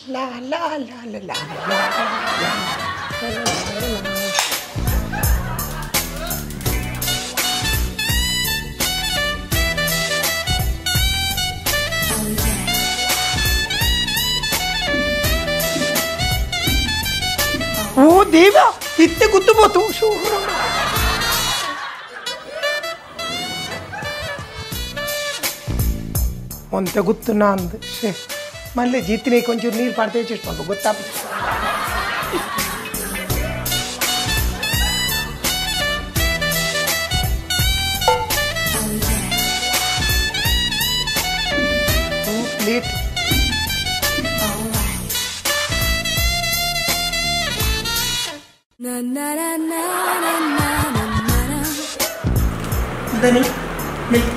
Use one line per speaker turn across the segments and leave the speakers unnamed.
ಲಾ ಲಾ ಲಾ ಲಾ ಲಾ ಓ ದೇವ ಇತ್ತೆ ಗುತ್ತು ಬೋತು ಒಂತೆ ಗುತ್ತು ನಾಂದು ಶೇ ಮಲ್ಲೆ ಜೀತಿನೇ ಕೊಂಚೂರು ನೀರು ಪಾಡ್ತೇ ಚೇಸ್ಟ್ ಗೊತ್ತಾಪ ಪ್ಲೇಟ್ ಧನಿ ಮಿಲ್ಕ್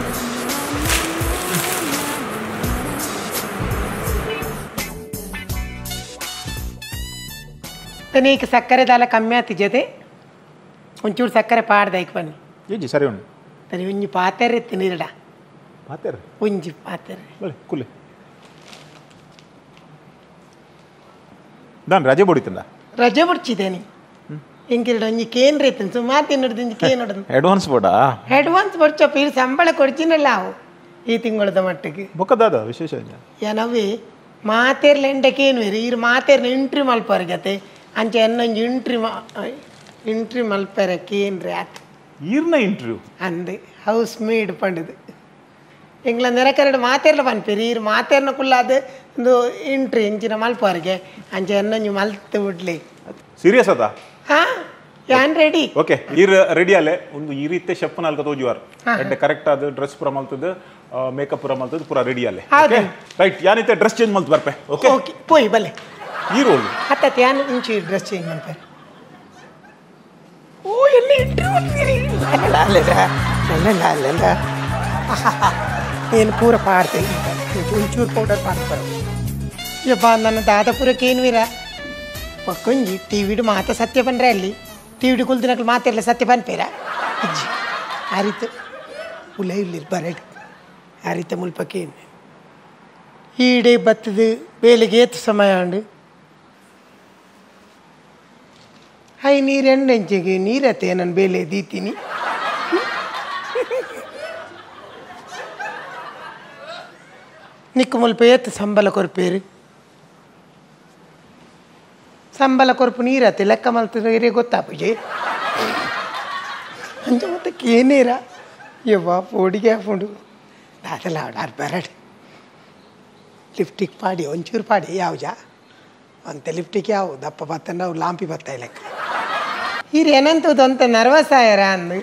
ತನೀಕ್ ಸಕ್ಕರೆ ದಾಲ ಕಮ್ಮಿ ಆತಿಜತೆ ಒಂಚೂರು ಸಕ್ಕರೆ ಪಾಡ್ದಾಯ್ಕ ಬನ್ನಿ
ಏಜಿ ಸರಿ ಉಂಡು
ತನಿ ಒಂಜಿ ಪಾತೆರೆ ತಿನ್ನಿರಡ
ಪಾತೆರೆ
ಒಂಜಿ ಪಾತೆರೆ
ಬಲೆ ಕುಲೆ ದಾನ್ ರಜೆ ಬೊಡಿತಂದ
ರಜೆ ಬೊಡ್ಚಿದ್ದೇನೆ ಎಂಕಿರಡ ಒಂಜಿ ಕೇಂದ್ರ ಇತ್ತು ಸುಮಾರು ತಿನ್ನಡ್ದು ಒಂಜಿ ಕೇನ್ ಹೊಡೆದು
ಅಡ್ವಾನ್ಸ್ ಬೋಡಾ
ಅಡ್ವಾನ್ಸ್ ಬೊಡ್ಚಪ್ಪ ಇಲ್ಲಿ ಸಂಬಳ ಕೊಡ್ಚಿನಲ್ಲ ಅವು ಈ ತಿಂಗಳದ ಮಟ್ಟಿಗೆ
ಬೊಕ್ಕದಾದ ವಿಶೇಷ
ಏನವೇ ಮಾತೇರ್ಲ ಎಂಡಕ್ಕೇನು ಇರು ಇರು ಮಾತೇರ್ನ ಇಂಟ್ರಿ ಮಲ್ಪರ್ಗತೆ ಅಂಚೆ ಎನ್ನೊಂಜಿ ಇಂಟ್ರಿ ಇಂಟ್ರಿ ಮಲ್ಪೆರೆ ಕೇನ್ರಿ ಆತು
ಈರ್ನ ಇಂಟರ್ವ್ಯೂ
ಅಂದೆ ಹೌಸ್ ಮೇಡ್ ಪಂಡದು ಎಂಗ್ಲ ನೆರಕರಡು ಮಾತೇರ್ಲ ಪನ್ಪೇರಿ ಈರು ಮಾತೇರ್ನ ಕುಲ್ಲಾದ ಒಂದು ಇಂಟ್ರಿ ಇಂಚಿನ ಮಲ್ಪವರಿಗೆ ಅಂಚೆ ಎನ್ನೊಂಜಿ ಮಲ್ತು ಬಿಡ್ಲಿ
ಸೀರಿಯಸ್ ಅದ
ಹಾ ಯಾನ್ ರೆಡಿ
ಓಕೆ ಈರ್ ರೆಡಿ ಅಲ್ಲೇ ಒಂದು ಈ ರೀತಿ ಶೆಫ್ ನಾಲ್ಕು ತೋಜುವಾರ್ ಎಡ್ಡೆ ಕರೆಕ್ಟ್ ಆದ ಡ್ರೆಸ್ ಪೂರ ಮಲ್ತದ ಮೇಕಪ್ ಪೂರ ಮಲ್ತದ ಪೂರ ರೆಡಿ ಅಲ್ಲೇ ಓಕೆ ರೈಟ್ ಯಾನಿತೆ ಡ್ರೆಸ್ ಚೇಂಜ್ ಮಲ್ತು ಬರ್ಪೆ ಓಕೆ
ಓಕೆ ಪೋಯ್ ಬಲೆ
ಈ ರೋಲ್
ಅತ್ತ ಯಾನ್ ಇಂಚಿ ಡ್ರೆಸ್ ಚೇಂಜ್ ಮಲ್ಪೆ ಓ ಎಲ್ಲಿ ಇಂಟರ್ವ್ಯೂ ಅಲ್ಲ ಅಲ್ಲ ಏನು ಪೂರ ಪಾಡ್ತೆ ಒಂಚೂರು ಪೌಡರ್ ಪಾಡ್ತಾರೆ ಯಪ್ಪ ನನ್ನ ದಾದಪುರಕ್ಕೆ ಏನು ವೀರ ಪಕ್ಕೊಂಜಿ ಟಿ ವಿಡು ಮಾತ ಸತ್ಯ ಪಂಡ್ರೆ ಅಲ್ಲಿ ಟಿ ವಿಡು ಕುಲ್ದಿನಕ್ಲು ಮಾತಿರಲ್ಲ ಸತ್ಯ ಪನ್ಪೇರ ಅಜ್ಜಿ ಆ ರೀತಿ ಉಲ ಇಲ್ಲಿ ಬರಡು ಆ ರೀತಿ ಮುಲ್ಪಕ್ಕೇನು ಈಡೆ ಬತ್ತದು ಬೇಲೆಗೆ ಏತು ಸಮಯ ಉಂಡು ಹೈ ನೀರು ಎಣ್ಣೆಂಚಿಗೆ ನೀರತ್ತೆ ನಾನು ಬೇಲೆ ದೀತೀನಿ ನಿಕ್ಕು ಮುಲ್ಪ ಏತು ಸಂಬಳ ಕೊರ್ಪೇರು ಸಂಬಳ ಕೊರ್ಪು ನೀರತ್ತೆ ಲೆಕ್ಕ ಮಲ್ತದೆ ಏರೇ ಗೊತ್ತಾಪುಜೆ ಅಂಚ ಮತ್ತೆ ಕೇನೇರ ಯವ್ವ ಪೋಡಿಗೆ ಹಾಕೊಂಡು ದಾದಲ ಆಡಾರ್ ಬರಡು ಲಿಫ್ಟಿಗೆ ಪಾಡಿ ಒಂಚೂರು ಪಾಡಿ ಯಾವ್ಜ ಅಂತ ಲಿಫ್ಟಿಗೆ ಯಾವ ದಪ್ಪ ಬತ್ತ ನಾವು ಲಾಂಪಿ ಬತ್ತ ಲೆಕ್ಕ ಈರು ಏನಂತದ್ದು ಅಂತ ನರ್ವಸ್ ಆಯರ ಅಂದು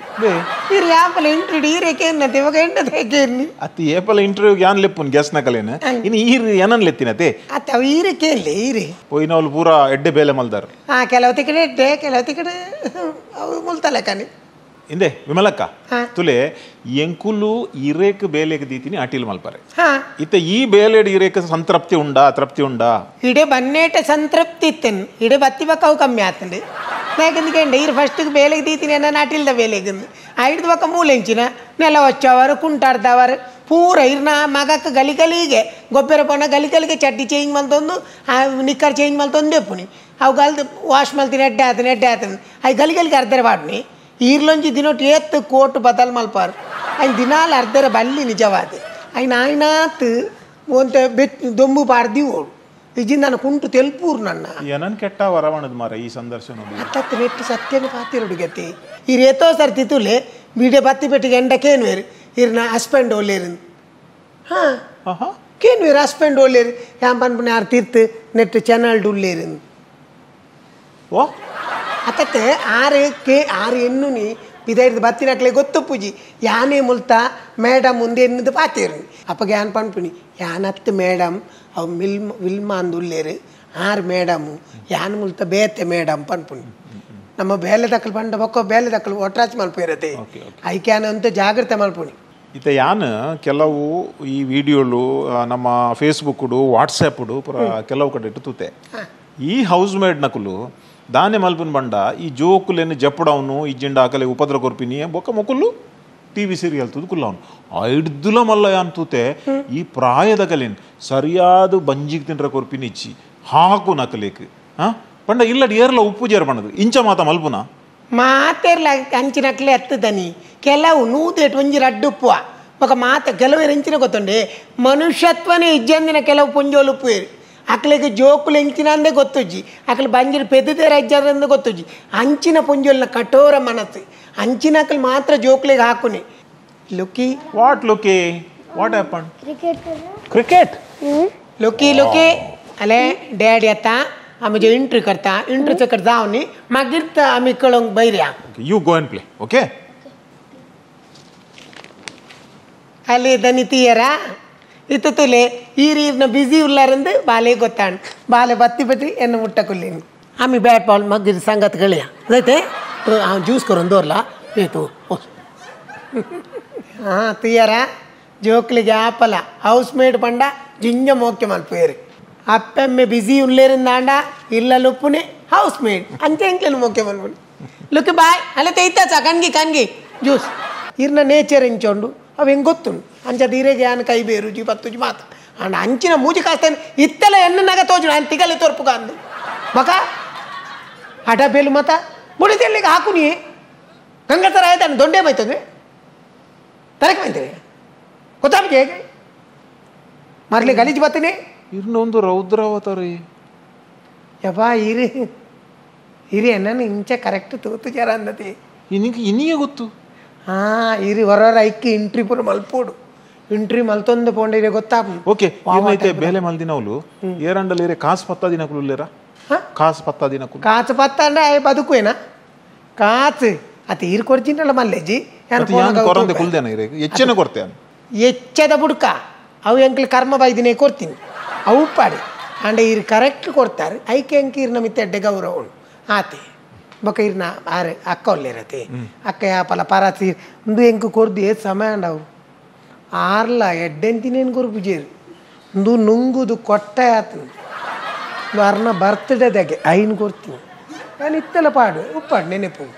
ಈರು ಯಾಪಲ ಇಂಟರ್ವ್ಯೂ ಈರೇಕೇನತ್ತೆ ಇವಾಗ ಎಂಟದ ಹೇಗೇನಿ
ಅತ್ತಿ ಏಪಲ ಇಂಟರ್ವ್ಯೂ ಯಾನ್ ಲೆಪ್ಪುನ್ ಗ್ಯಾಸ್ ನಕಲೇನು ಇನ್ನು ಈರು ಏನನ್ ಲೆತ್ತಿನತೆ
ಅತ್ತ ಅವು ಈರೇಕೇನ್ಲಿ ಈರಿ
ಪೋಯಿನವಳು ಪೂರಾ ಎಡ್ಡೆ ಬೇಲೆ ಮಲ್ದಾರ
ಹಾಂ ಕೆಲವತಿ ಕಡೆ ಎಡ್ಡೆ ಕೆಲವತಿ ಕಡೆ ಅವು ಮುಲ್ತಲೆ ಕಣಿ
ಇಂದೆ ವಿಮಲಕ್ಕ ತುಲೆ ಎಂಕುಲು ಇರೇಕ್ ಬೇಲೆಗೆ ದೀತಿನಿ ಅಟಿಲ್ ಮಲ್ಪರೆ ಇತ್ತ ಈ ಬೇಲೆಡ್ ಇರೇಕ್ ಸಂತೃಪ್ತಿ ಉಂಡಾ ತೃಪ್ತಿ ಉಂಡಾ
ಇಡೆ ಬನ್ನೇಟ ಸಂತೃಪ್ತಿ ಇತ್ತೇನು ಇಡೆ ಬತ್ತಿ ಬಕ್ಕ ಅವು ಕಮ್ಮಿ ಆತಂಡೆ ನಾಕೆಂదుకంಡೆ ಇರು ಫಸ್ಟಿಗೆ ಬೇಲೆಗೆ ದೀತಿನಿ ಅನ್ನ ಅಟಿಲ್ದ ಬೇಲೆಗೆ ಐಡ್ದು ಬಕ್ಕ ಮೂಲೆಂಚಿನ ನೆಲ ಹೊಚ್ಚವರು ಕುಂಟಾಡ್ದವರು ಪೂರ ಇರ್ನ ಮಗಕ್ಕೆ ಗಲಿ ಗಲಿಗೆ ಗೊಬ್ಬರ ಪೋಣ ಗಲಿ ಗಲಿಗೆ ಚಡ್ಡಿ ಚೇಂಜ್ ಮಲ್ತೊಂದು ಆ ನಿಕ್ಕರ್ ಚೇಂಜ್ ಮಲ್ತೊಂದೇ ಪುನಿ ಅವು ಗಲ್ದು ವಾಶ್ ಮಲ್ತೀನಿ ಎಡ್ಡೆ ಆತನ ಎಡ್ಡೆ ಆತನ ಅವು ಗಲಿ ಗಲಿಗೆ ಅರ್ಧರೆ ಪಾಡ್ನಿ ಈರ್ಲೊಂಜಿ ದಿನೊಟ್ಟು ಏತ್ತು ಕೋಟ್ ಬದಲ್ ಮಲ್ಪಾರು ಐನ್ ದಿನಾಲ ಅರ್ಧರ ಬಲ್ಲಿ ನಿಜವಾದ ಐನ್ ಆಯ್ನಾತ್ ಒಂತ ಬೆಟ್ ದೊಂಬು ಪಾಡ್ದಿ ಓಡು ಇಜ್ಜಿಂದ ನಾನು ಕುಂಟು ತೆಲ್ಪೂರು ನನ್ನ
ಏನನ್ ಕೆಟ್ಟ ವರವಣದ ಮಾರ ಈ ಸಂದರ್ಶನ
ಅತ್ತತ್ತು ನೆಟ್ಟು ಸತ್ಯನ ಪಾತಿರುಡು ಗತಿ ಈ ರೇತೋ ಸರ್ತಿ ತುಲೆ ಬೀಡೆ ಬತ್ತಿ ಪೆಟ್ಟಿಗೆ ಎಂಡಕ್ಕೇನು ಬೇರು ಇರ್ನ ಹಸ್ಬೆಂಡ್ ಒಲ್ಲೇರು ಹಾಂ ಕೇನು ಬೇರು ಹಸ್ಬೆಂಡ್ ಒಲ್ಲೇರು ಯಾನ್ ಪನ್ಪುನ ಯಾರು ತೀರ್ತು ನೆಟ್ಟು ಚಾನಲ್ ಉಲ್ಲೇರು
ಓ
ಅತ್ತತ್ತೆ ಆರು ಕೆ ಆರು ಎಣ್ಣುನಿ ಬಿದೈರ್ದು ಬತ್ತಿನಕ್ಲೆ ಗೊತ್ತು ಪೂಜಿ ಯಾನೇ ಮುಲ್ತ ಮೇಡಮ್ ಮುಂದೆ ಎನ್ನುದು ಪಾತೇರು ಅಪ್ಪಗೆ ಯಾನ್ ಪನ್ಪುನಿ ಯಾನತ್ತು ಮೇಡಮ್ ಅವು ಮಿಲ್ ವಿಲ್ಮಾ ಅಂದು ಉಲ್ಲೇರು ಆರು ಮೇಡಮು ಯಾನ್ ಮುಲ್ತ ಬೇತೆ ಮೇಡಮ್ ಪನ್ಪುನಿ ನಮ್ಮ ಬೇಲೆ ದಕ್ಕಲು ಪಂಡ ಬೊಕ್ಕ ಬೇಲೆ ದಕ್ಕಲು ಒಟ್ರಾಚ್ ಮಲ್ಪು ಇರತ್ತೆ ಐಕ್ಯಾನ ಅಂತ ಜಾಗ್ರತೆ ಮಲ್ಪುನಿ
ಇತ್ತ ಯಾನ್ ಕೆಲವು ಈ ವಿಡಿಯೋಲು ನಮ್ಮ ಫೇಸ್ಬುಕ್ಡು ವಾಟ್ಸಪ್ಡು ಪೂರ ಕೆಲವು ಕಡೆ ಇಟ್ಟು ತೂತೆ ಈ ಹೌಸ್ ಮೇಡ್ ನಕುಲು ದಾನೆ ಮಲ್ಪುನ್ ಬಂಡ ಈ ಜೋಕುಲೇನು ಜಪ್ಪಡವನು ಇಜ್ಜಿಂಡ ಆಕಲೆ ಉಪದ್ರ ಕೊರ್ಪಿನಿ ಬೊಕ್ಕ ಮೊಕುಲು ಟಿವಿ ಸೀರಿಯಲ್ ತೂದು ಕುಲ್ಲವನು ಐಡ್ದುಲ ಮಲ್ಲ ಯಾನ್ ತೂತೆ ಈ ಪ್ರಾಯದ ಕಲೇನ್ ಸರಿಯಾದ ಬಂಜಿಗೆ ತಿಂಡ್ರ ಕೊರ್ಪಿನಿ ಇಚ್ಚಿ ಹಾಕು ನಕಲೇಕ್ ಪಂಡ ಇಲ್ಲಡ್ ಏರ್ಲ ಉಪ್ಪು ಜೇರ್ ಪಂಡದು ಇಂಚ ಮಾತ ಮಲ್ಪುನ
ಮಾತೆರ್ಲ ಅಂಚಿನಕ್ಲೆ ಎತ್ತದನಿ ಕೆಲವು ನೂದೇಟ್ ಒಂಜಿ ರಡ್ಡುಪ್ಪುವ ಬೊಕ ಮಾತ ಕೆಲವು ಎಂಚಿನ ಗೊತ್ತುಂಡೆ ಮನುಷ್ಯತ್ವನೇ ಇಜ್ಜಂದಿನ ಕೆಲವು ಪೊಂಜೋಲು ಉಪ್ಪುವೇರು ಅಕ್ಲೆಗ್ ಜೋಕುಲು ಎಂಚಿನ ಅಂದೇ ಗೊತ್ತುಜ್ಜಿ ಅಕ್ಲೆ ಬಂಜಿನ ಪೆದ್ದುದೇರ ಇಜ್ಜಂದ ಗೊತ್ತುಜ್ಜಿ ಅಂಚಿನ ಪೊಂಜೋಲ್ನ ಕಠೋರ ಮನಸ್ಸು ಅಂಚಿನ ಅಕ್ಲು ಮಾತ್ರ ಜೋಕುಲೆಗ್ ಹಾಕುನಿ. Lucky
what Lucky what happen?
Cricket.
Cricket
Lucky Lucky ಅಲೆ ಡ್ಯಾಡಿ ಅತ್ತ आमी जो एंट्री करता एंट्री चकट जावन मागीर आमी कळोंक बैर या.
You go and play okay.
ಅಲ್ಲಿ ದನಿ ತೀಯರಾ ಇತ್ತು ತುಲೆ ಈರ್ ಬಿಸಿ ಉಲ್ಲಾರಂದು ಬಾಲೆ ಗೊತ್ತಾಣ್ ಬಾಲೆ ಬತ್ತಿ ಬತ್ತಿ ಎನ್ನ ಮುಟ್ಟ ಕುಲ್ಲೇನಿ ಆಮಿ ಬ್ಯಾಟ್ ಬಾಲ್ ಮಗ್ಗಿರ್ ಸಂಗತ್ ಗಳಿಯ ಅದೈತೆ ಹಾಂ ಜ್ಯೂಸ್ ಕೊರೊಂದು ದೋರ್ಲ ಏತು. ಹಾಂ ತೀಯರಾ ಜೋಕ್ಲಿಗೆ ಆಪಲ ಹೌಸ್ ಮೇಡ್ ಪಂಡ ಜಿಂಜ ಮೋಕೆ ಮಲ್ಪೇರು ಅಪ್ಪೆಮ್ಮೆ ಬಿಸಿ ಉಲ್ಲೇರಿಂದಾಂಡ ಇಲ್ಲ ಲುಪ್ಪುನೆ ಹೌಸ್ ಮೇಡ್ ಅಂಚೆ ಎಂಕ್ಲೇನು ಮೋಕೆ ಮಲ್ಪುನಿ. ಲುಕ್ಕಿ ಬಾಯ್ ಅಲ್ಲ ತೈತಾಚ ಕಣ್ಗಿ ಕಣ್ಗಿ ಜ್ಯೂಸ್ ಇರ್ನ ನೇಚರ್ ಎಂಚೊಂಡು ಅವು ಹೆಂಗೆ ಗೊತ್ತುಂಡು ಅಂಚ ಧೀರೆಗೆ ಯಾನ್ ಕೈ ಬೇರು ಜಿ ಪತ್ತುಜಿ ಮಾತ ಅಂಡ ಅಂಚಿನ ಮೂಜಿ ಕಾಸ್ತಾನೆ ಇತ್ತಲ ಎಣ್ಣನಾಗ ತೋಜು ನಾನು ತಿಗಲೆ ತೋರ್ಪುಗ ಅಂದು ಮಕ ಹಠ ಬೇಲು ಮತ ಬುಡಿದೆಲ್ಲಿಗೆ ಹಾಕುನಿ ಗಂಗಸರ ಆಯ್ತಾನೆ ದೊಂಡೆ ಬೈತದೆ ತರಕ್ಕೆ ಬೈತಾರೆ ಗೊತ್ತಾಗ ಹೇಗೆ ಮರಲಿ ಗಲೀಜು ಬತ್ತೀನಿ
ಇನ್ನೊಂದು ರೌದ್ರಾವತಾರಿ
ಯಬ್ಬಾ ಇರಿ ಇರಿ ನಾನು ಇಂಚೆ ಕರೆಕ್ಟ್ ತೂತು ಜರ ಅಂದತಿ
ಇನಿಗೆ ಇನಿಯೇ ಗೊತ್ತು.
ಹಾಂ ಇರಿ ಹೊರ ಐಕ್ಕಿ ಇಂಟ್ರಿ ಪೂರ ಮಲ್ಪೋಡು ಇಂಟ್ರಿ ಮಲ್ತೊಂದು ಪೋಂಡ ಇರೆ ಗೊತ್ತಾಪ.
ಓಕೆ ಏನೈತೆ ಬೇಲೆ ಮಲ್ದಿನವಳು ಏರಂಡಲ್ ಇರೆ ಕಾಸು ಪತ್ತ ದಿನಕುಲು ಇಲ್ಲೇರ ಕಾಸು ಪತ್ತ ದಿನಕುಲು
ಕಾಸು ಪತ್ತ ಅಂದ್ರೆ ಆಯ್ ಬದುಕುವೇನಾ ಕಾಸು ಅತಿ ಈರು ಕೊಡ್ತೀನಲ್ಲ ಮಲ್ಲೇಜಿ
ಕೊರಂದೆ ಕುಲ್ದೇನ ಇರೆ ಹೆಚ್ಚಿನ ಕೊಡ್ತೇನೆ
ಹೆಚ್ಚದ ಬುಡ್ಕ ಅವು ಎಂಕ್ಲಿ ಕರ್ಮ ಬೈದಿನೇ ಕೊಡ್ತೀನಿ ಅವು ಉಪ್ಪಾಡಿ ಅಂಡ ಇರು ಕರೆಕ್ಟ್ ಕೊಡ್ತಾರೆ ಐಕೆ ಎಂಕ್ ಇರ್ನ ಮಿತ್ತ ಎಡ್ಡೆ ಗೌರವ ಉಂಡು ಆತೆ ಬೊಕ ಇರ್ನ ಆರೆ ಅಕ್ಕ ಒಲ್ಲೇರತೆ ಅಕ್ಕ ಯಾಪಲ ಪರಾತಿ ಉಂದು ಎಂಕ್ ಕೊರ್ದು ಏತ್ ಸಮಯ ಅಂಡವು ಆರ್ಲ ಎಡ್ಡೆಂತಿನೇನು ಕೊರ್ಪುಜೇರು ಉಂದು ನುಂಗುದು ಕೊಟ್ಟೆ ಆತು ಅರ್ನ ಬರ್ತ್ಡೇದಾಗೆ ಐನ್ ಕೊರ್ತೀನಿ ನಾನು ಇತ್ತೆಲ್ಲ ಪಾಡು ಉಪ್ಪಾಡು ನೆನೆಪು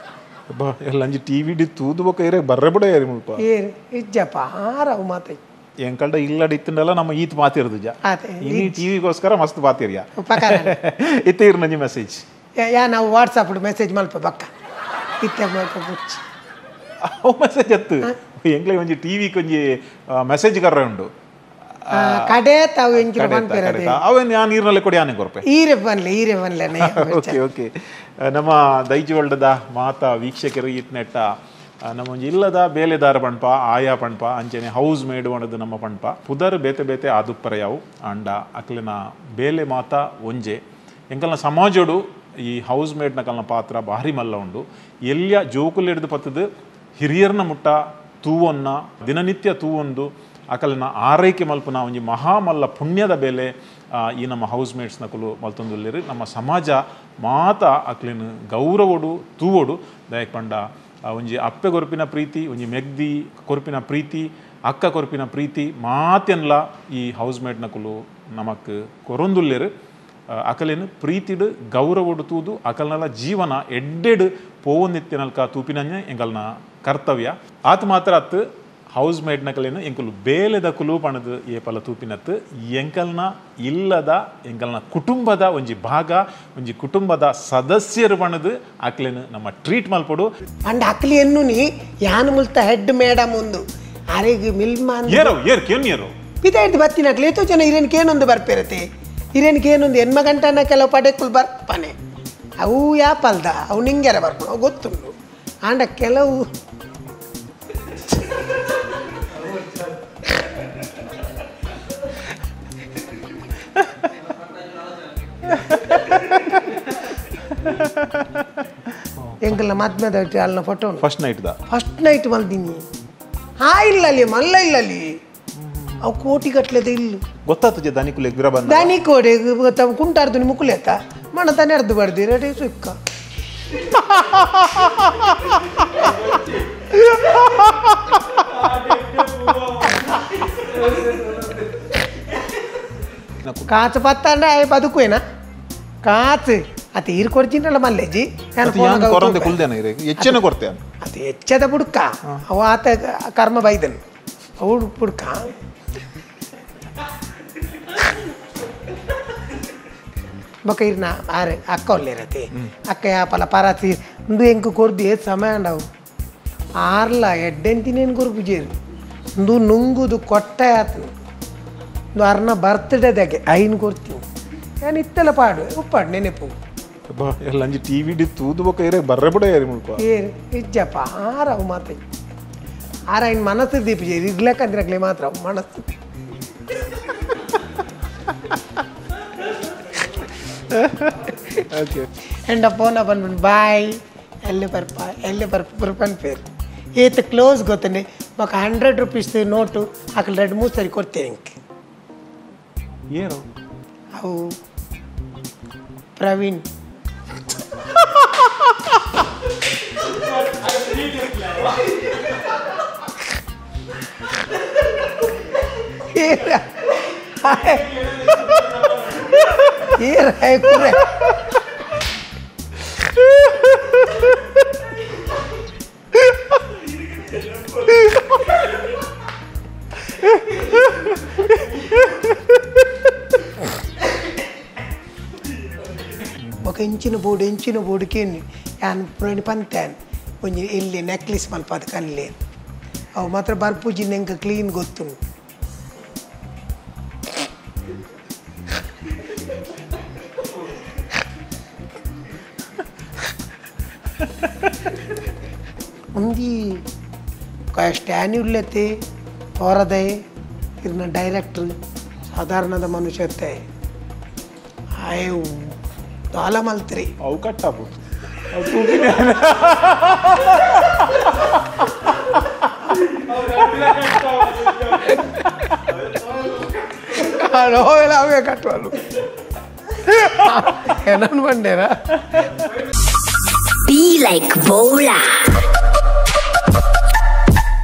ಎಲ್ಲ ಅಂಜಿ ಟಿ ವಿ ತೂದು ಬೊಕ ಇರೆ ಬರ್ರೆ ಬುಡ ಏರಿ ಮುಲ್ಪ
ಏರು ಇಜ್ಜಪ್ಪ ಆರವು ಮಾತೈ
ಎಂಕಲ್ಡ ಇಲ್ಲಡ ಇತ್ತಂಡಲ್ಲ ನಮ್ಮ ಈತ್ ಮಾತಿರೋದು ಜ ಇನಿ ಟಿವಿಗೋಸ್ಕರ ಮಸ್ತ್ ಮಾತಿರಿಯ ಇತ್ತ ಇರ್ ನಂಜಿ ಮೆಸೇಜ್
ಯಾ ನಾವು ವಾಟ್ಸಪ್ ಮೆಸೇಜ್ ಮಲ್ಪ ಬಕ್ಕ ಇತ್ತೆ ಮಲ್ಪ ಬುಚ್ಚಿ
ಅವು ಮೆಸೇಜ್ ಅತ್ತು ಎಂಕ್ಲೆ ಒಂಜಿ ಟಿವಿ ಕೊಂಜಿ ಮೆಸೇಜ್ ಕರ್ರೆ ಉಂಡು
ಕಡೆ ತಾವು ಎಂಕಿನ ಪನ್ಪೆರದೆ
ಅವೇನು ಯಾನ್ ನೀರಿನಲ್ಲಿ ಕೊಡಿ ಯಾನೆ ಕೊರ್ಪೆ
ಈರೆ ಬನ್ಲೆ ಈರೆ ಬನ್ಲೆ.
ಓಕೆ ಓಕೆ ನಮ್ಮ ದೈಜವಲ್ಡದ ಮಾತಾ ವೀಕ್ಷಕರು ಇತ್ನೆಟ್ಟ ನಮ್ಮ ಒಂಜಿ ಇಲ್ಲದ ಬೇಲೆದಾರ ಪಣ್ಪ ಆಯಾ ಪಣ್ಪ ಅಂಚನೆ ಹೌಸ್ ಮೇಡ್ ಒಣದು ನಮ್ಮ ಪಣ್ಪ ಪುದರ್ ಬೇತೆ ಬೇತೆ ಆದುಪ್ಪರ ಯಾವು ಅಂಡ ಅಕ್ಲಿನ ಬೇಲೆ ಮಾತಾ ಒಂಜೆ ಎಂಕಲ್ನ ಸಮಾಜೋಡು ಈ ಹೌಸ್ ಮೇಡ್ನ ಕಲ್ನ ಪಾತ್ರ ಭಾರಿ ಮಲ್ಲ ಉಂಡು ಎಲ್ಲಿಯ ಜೋಕುಲು ಹಿಡಿದು ಪತ್ತದು ಹಿರಿಯರ್ನ ಮುಟ್ಟ ತೂವೊನ್ನ ದಿನನಿತ್ಯ ತೂವೊಂದು ಅಕಲ್ನ ಆರೈಕೆ ಮಲ್ಪುನ ಒಂಜಿ ಮಹಾಮಲ್ಲ ಪುಣ್ಯದ ಬೇಲೆ ಈ ನಮ್ಮ ಹೌಸ್ ಮೇಟ್ಸ್ನ ಕುಲು ಮಲ್ತೊಂದುಲ್ಲೇರು ನಮ್ಮ ಸಮಾಜ ಮಾತ ಅಕ್ಲಿನ ಗೌರವೋಡು ತೂವೋಡು ದಯಕ್ ಪಂಡ ಒಂಜಿ ಅಪ್ಪೆ ಕೊರ್ಪಿನ ಪ್ರೀತಿ ಒಂಜಿ ಮೆಗ್ದಿ ಕೊರ್ಪಿನ ಪ್ರೀತಿ ಅಕ್ಕ ಕೊರ್ಪಿನ ಪ್ರೀತಿ ಮಾತೆನ್ಲ ಈ ಹೌಸ್ ಮೇಟ್ನ ಕುಲು ನಮಕ್ ಕೊರೊಂದುಲ್ಲೇರು ಅಕಲೇನು ಪ್ರೀತಿಡು ಗೌರವಡು ತೂದು ಅಕಲ್ನಲ ಜೀವನ ಎಡ್ಡೆಡು ಪೋವೊಂದಿತ್ತಿನಲ್ಕ ತೂಪಿನಂಜೆ ಎಂಕಲ್ನ ಕರ್ತವ್ಯ ಆತ ಮಾತ್ರ ಅತ್ತು ಹೌಸ್ ಮೇಡ್ನ ಕಲೇನು ಎಂಕುಲು ಬೇಲೆದ ಕುಲು ಪಣದು ಏಪಲ ತೂಪಿನತ್ತು ಎಂಕಲ್ನ ಇಲ್ಲದ ಎಂಕಲ್ನ ಕುಟುಂಬದ ಒಂಜಿ ಭಾಗ ಒಂಜಿ ಕುಟುಂಬದ ಸದಸ್ಯರು ಪಣದು ಅಕ್ಲೇನು ನಮ್ಮ ಟ್ರೀಟ್ ಮಲ್ಪಡು
ಅಂಡ್ ಅಕ್ಲಿ ಎನ್ನು ನೀ ಯಾನು ಮುಲ್ತ ಹೆಡ್ ಮೇಡಮ್ ಒಂದು ಅರೆಗೆ ಮಿಲ್ಮಾನ್
ಏರೋ ಏರ್ ಕೇನ್ ಏರೋ
ಪಿತಾಯ್ತು ಬತ್ತಿನ ಅಕ್ಲಿ ಏತೋ ಜನ ಇರೇನ್ಕೇನೊಂದು ಬರ್ಪೇರತೆ ಇರೇನ್ಕೇನೊಂದು ಎನ್ಮ ಗಂಟನ ಕೆಲವು ಪಡೆಕುಲು ಬರ್ಪನೆ ಅವು ಯಾಪಲ್ದ ಅವು ನಿಂಗೆರ ಬರ್ಪಣ ಅವು ಗೊತ್ತುಂಡು ಆಂಡ ಕೆಲವು ಎಂಕಲ್ನ ಮದ್ಮೆದ ಅಲ್ಲಿನ photo
first night the
first night ಮಲ್ದಿನಿ ಹಾ ಇಲ್ಲ ಅಲ್ಲಿ ಮಲ್ಲ ಇಲ್ಲ ಅಲ್ಲಿ ಅವು ಕೋಟಿ ಗಟ್ಲೆದ ಇಲ್ಲ
ಗೊತ್ತಾತದೆ ದನಿಕುಲೆ ಗಿರ ಬಂದ
ದನಿ ಕೋಡೆ ತಮ್ಮ ಕುಂಟಾರ್ದು ಮುಕುಲೇತ ಮಣ ತಾನೆ ಅರ್ದು ಬರ್ದಿ ರೆಡಿ ಸುಕ್ಕ ಕಾಚು ಪತ್ತ ಅಂದ್ರೆ ಆಯ್ ಬದುಕುವೇನಾ ಕಾಚು ಅತಿ ಈರು ಕೊಡ್ತೀನಲ್ಲ ಮಲ್ಲೇಜಿ
ಕೊರಂದೆ ಕುಲ್ದೇನ ಇರೆ ಹೆಚ್ಚಿನ ಕೊಡ್ತೇನೆ
ಅದು ಹೆಚ್ಚದ ಬುಡ್ಕ ಅವ ಆತ ಕರ್ಮ ಬೈದನು ಅವು ಬುಡ್ಕ ಬೊಕ ಇರ್ನ ಆರೆ ಅಕ್ಕ ಒಲ್ಲೇರತೆ ಅಕ್ಕ ಯಾಪಲ ಪರಾತಿ ಉಂದು ಎಂಕ್ ಕೊರ್ದು ಏತ್ ಸಮಯ ಅಂಡವು ಆರ್ಲ ಎಡ್ಡೆಂತಿನೇನು ಕೊರ್ಪುಜೇರು ಉಂದು ನುಂಗುದು ಕೊಟ್ಟೆ ಆತು ಉಂದು ಅರ್ನ ಬರ್ತ್ಡೇದಾಗೆ ಐನ್ ಕೊರ್ತೀನಿ ಯಾನ್ ಇತ್ತೆಲ್ಲ ಪಾಡು ಉಪ್ಪಾಡು ನೆನೆಪು
ಎಲ್ಲ ಅಂಜಿ ಟಿ ವಿ ತೂದು ಬೊಕ ಏರೆ ಬರ್ರೆ ಬುಡ ಏರಿ ಮುಲ್ಪ
ಏರು ಇಜ್ಜಪ್ಪ ಆರವು ಮಾತ ಆರ ಇನ್ನು ಮನಸ್ಸು ದೀಪಜೇರು ಇರ್ಲಕ್ಕಂದ್ರಗ್ಲೇ ಮಾತ್ರ ಮನಸ್ಸು
ಓಕೆ
ಎಂಡ ಫೋನ ಬಂದ್ಬಿಟ್ಟು ಬಾಯ್ ಎಲ್ಲಿ ಬರ್ಪ ಎಲ್ಲಿ ಬರ್ಪ ಬರ್ಪನ್ ಪೇರು ಏತ್ ಕ್ಲೋಸ್ ಗೊತ್ತನೆ ఒక 100 ರೂಪೀಸ್ ನೋಟು ಅಕಲ್ 2 3 ಸರಿ ಕೊಡ್ತೇನೆ ಇಂಕ್
ಏನು
ಅವು ಪ್ರವೀಣ್ ಏ ఒక ಇಂಚಿನ ಬೋರ್ಡ್ ಇಂಚಿನ ಬೋರ್ಡ್ಕೇನು ಯಾನ್ ಪುರಣಿ ಪಂತ್ಯಾನ್ ಒಂಜಿ ಇಲ್ಲಿ ನೆಕ್ಲೆಸ್ ಮಲ್ಪಾದ ಕನ್ಲೆ ಅವು ಮಾತ್ರ ಬರ್ಪೂಜಿನ ಎಂಕ ಕ್ಲೀನ್ ಗೊತ್ತುಂಡು ಒಂದಿ ಸ್ಟ್ಯಾನ್ ಉಲ್ಲತೆ ತೋರದೆ ಇರ್ನ ಡೈರೆಕ್ಟ್ರ್ ಸಾಧಾರಣದ ಮನುಷ್ಯತೆ ಆಯ್ ದಾಲ ಮಲ್ತ್ರಿ
ಅವು ಕಟ್ಟಾಪು
ಅವೇ ಕಟ್ಟುವಲು ಏನನ್ ಬಂಡೇರಾ.
Be like Bola.